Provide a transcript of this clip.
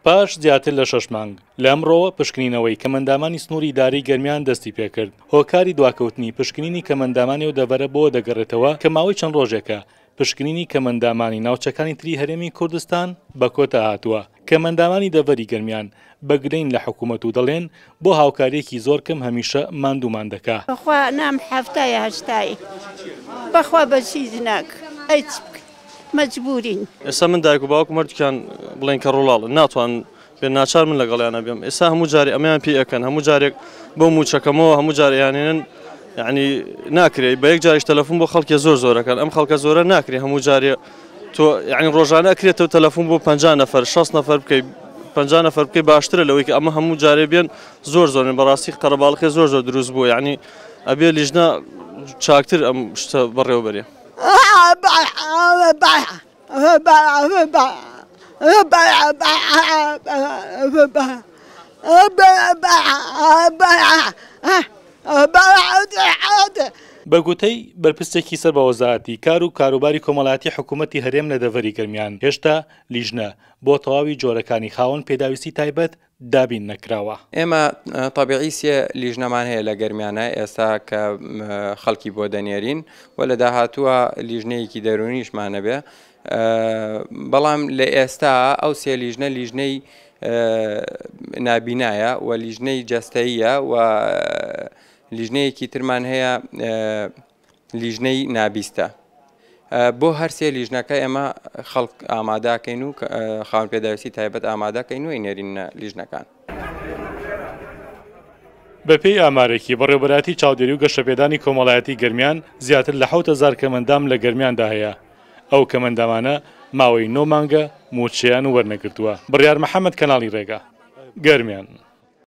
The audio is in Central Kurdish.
پاش زیاتر لە شەش مانگ، لە ئەمڕۆوە پشکنینەوەی کەمئەندامانی سنووری ئیدارەی گەرمیان دەستی پێکرد، هۆکاری دواکەوتنی پشکنینی کەمئەندامانی ئەو دەڤەرە بۆوە دەگەڕێتەوە کە ماوەی چەند ڕۆژێکە پشکنینی کەمئەندامانی ناوچەکانی تری هەرێمی کوردستان بە کۆتا هاتووە. کەمئەندامانی دەڤەری گەرمیان بە گلەین لە حکوومەت و دەڵێن بۆ هاوکارییەکی زۆر کەم هەمیشە ماندوومان دەکا. بەخوا نام حەفتایە هەشتایە بەخوا بەس هیچ ناک ئەی چ بکەین مەجبورین. ئێستا من دایک و باوکم هەردووکیان بڵێن کەڕ و ڵاڵن ناتوانن بێن ناچار من لەگەڵیانە بێم ئێستا هەموو جارێ ئەمەیان پێ ئەکەن هەموو جارێک بۆ موچەکەمەوە هەموو جار ئەیانێنن یعنی ناکرێ بە یەک جاریش تەلەفۆن بۆ خەڵکێ زۆر زۆرەکەن ئەم خەڵکە زۆرە ناکرێ هەموو جارێ تۆ یعنی ڕۆژانە ئەکرێتەوە تەلەفۆن بۆ 50 نەفەر 60 نەفەر بکەی 50 نەفەر بکەی باشترە لەوەی کە ئەمە هەموو جارێ بێن زۆر زۆرن بەڕاستی قەرەباڵخێ زۆر زۆر دروست بووە یعنی ئەبێ لیژنە چاکتر ئەم شتە بەڕێوە بەرێ. بە گوتەی بەرپرسێکی سەر بە وەزارەتی کار و کاروباری کۆمەڵایەتی حکوومەتی هەرێم لە دەڤەری گەرمیان، هێشتا لیژنە بۆ تەواوی جۆرەکانی خاوەن پێداویستی تایبەت دابین نەکراوە. ئێمە تەبیعی سێ لیژنەمان هەیە لە گەرمیانە ئێستا کە خەڵکی بۆ دەنێرین و لە داهاتووە لیژنەیەکی دەروونیشمان هەبێ بەڵام لە ئێستا ئەو سێ لیژنە لیژنەی نابینایە و لیژنەی جەستەییە و لیژنەیەکی ترمان هەیە لیژنەی نابیستە. بۆ هەرسێ لیژنەکە ئێمە خەڵک ئامادەکەین و خاوەن پێداویستی تایبەت ئامادەکەین و ئەینێرینە لیژنەکان. بەپێی ئامارێکی بەڕێوەبەرایەتی چاودێری و گەشەپێدانی کۆمەڵایەتی گەرمیان، زیاتر لە 7000 کەمئەندام لە گەرمیاندا هەیە، ئەو کەمئەندامانە ماوەی نۆ مانگە مووچەیان وەرنەگرتووە. بڕیار محەمەد، کەناڵی رێگا، گەرمیان.